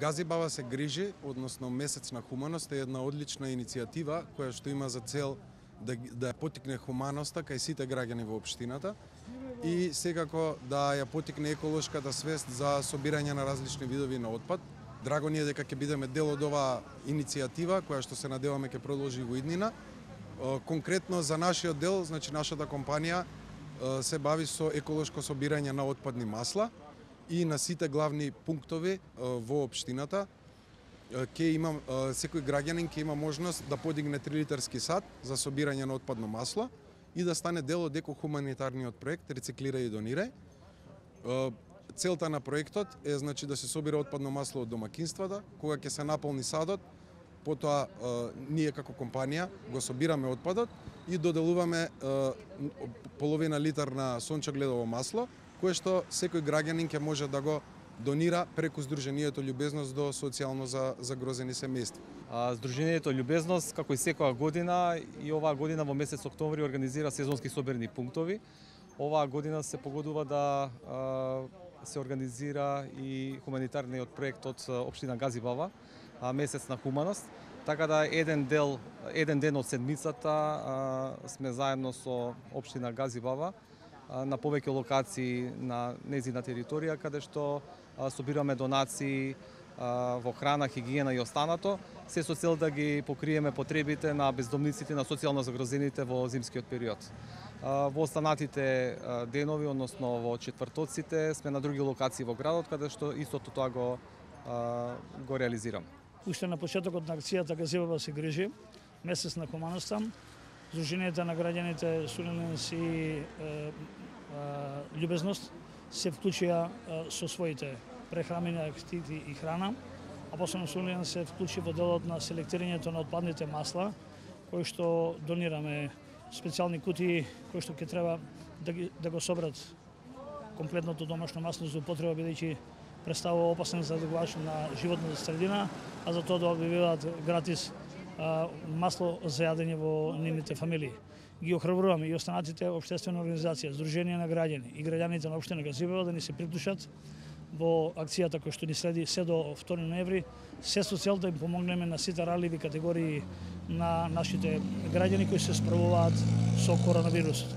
Газибава се грижи, односно Месец на хуманост е една одлична иницијатива која што има за цел да ја потикне хуманоста кај сите граѓани во општината и секако да ја потикне еколошката свест за собирање на различни видови на отпад. Драго ни е дека ќе бидеме дел од оваа иницијатива која што се надеваме ќе продолжи во иднина. Конкретно за нашиот дел, значи нашата компанија се бави со еколошко собирање на отпадни масла и на сите главни пунктови во општината секој граѓанин ќе има можност да подигне 3 литарски сад за собирање на отпадно масло и да стане дел од екохуманитарниот проект Рециклирај и донирај. Целта на проектот е значи да се собира отпадно масло од домакинствата, кога ќе се наполни садот, потоа ние како компанија го собираме отпадот и доделуваме половина литар на сончогледово масло, кое што секој граѓанин ќе може да го донира преку Сдруженијето Љубезност до социјално загрозени семејства. Сдруженијето Љубезност, како и секоја година, и оваа година во месец октомври организира сезонски собирни пунктови. Оваа година се погодува да се организира и хуманитарниот проект од општина Газибава, Месец на хуманост. Така да еден ден од седмицата сме заедно со општина Газибава на повеќе локации на нејзина територија, каде што собираме донации во храна, хигиена и останато, се со цел да ги покриеме потребите на бездомниците, на социјално загрозените во зимскиот период. Во останатите денови, односно во четвртоците, сме на други локации во градот, каде што истото тоа го реализираме. Уште на почетокот на акцијата Газибава се грижи, Месец на хуманоста, Сдруженијата на граѓаните Сулиненс и Љубезност се вклучија со своите прехранени активи и храна, а посебно Сулиненс се вклучи во делот на селектирањето на отпадните масла, кои што донираме специјални кутии кои што ќе треба да го собрат комплетното домашно масло за употреба, бидејќи представува опасен задавач на животната средина, а за тоа да објавуваат гратис масло за јадење во нивните фамилии. Ги охрабруваме и останатите општествени организации, Сдруженија на граѓани и граѓаните на општина Газибава да ни се приклучат во акцијата која што ни следи се до 2 ноември, се со цел да им помогнеме на сите ралливи категории на нашите граѓани кои се справуваат со коронавирусот.